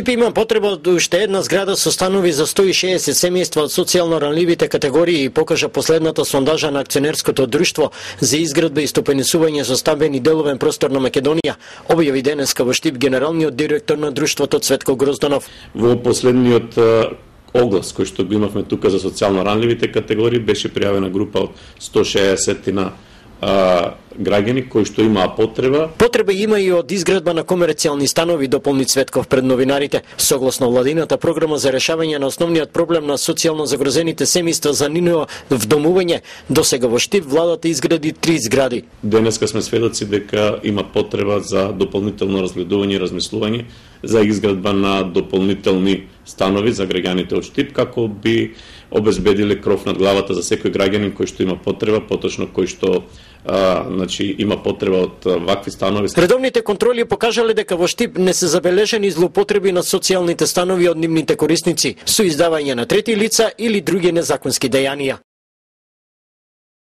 Штип има потреба од уште една зграда со станови за 160 семејства од социјално ранливите категории и покажа последната сондажа на акционерското друштво за изградба и стопенисување со стамбени деловен простор на Македонија, објави денеска во Штип генералниот директор на друштвото Цветко Грозданов. Во последниот оглас кој што го имавме тука за социјално ранливите категории беше пријавена група од 160 граѓани кои што имаа потреба. Потреба има и од изградба на комерцијални станови, дополни Цветков пред новинарите. Согласно владината програма за решавање на основниот проблем на социјално загрозените семејства за нивно вдомување, досега во Штип владата изгради 3 згради. Денеска сме сведоци дека има потреба за дополнително разгледување и размислување за изградба на дополнителни станови за граѓаните од Штип, како би обезбедиле кров над главата за секој граѓанин кој што има потреба, поточно кој што има потреба од вакви станови. Редовните контроли покажале дека во Штип не се забележени злоупотреби на социјалните станови од нивните корисници со издавање на трети лица или други незаконски дејанија.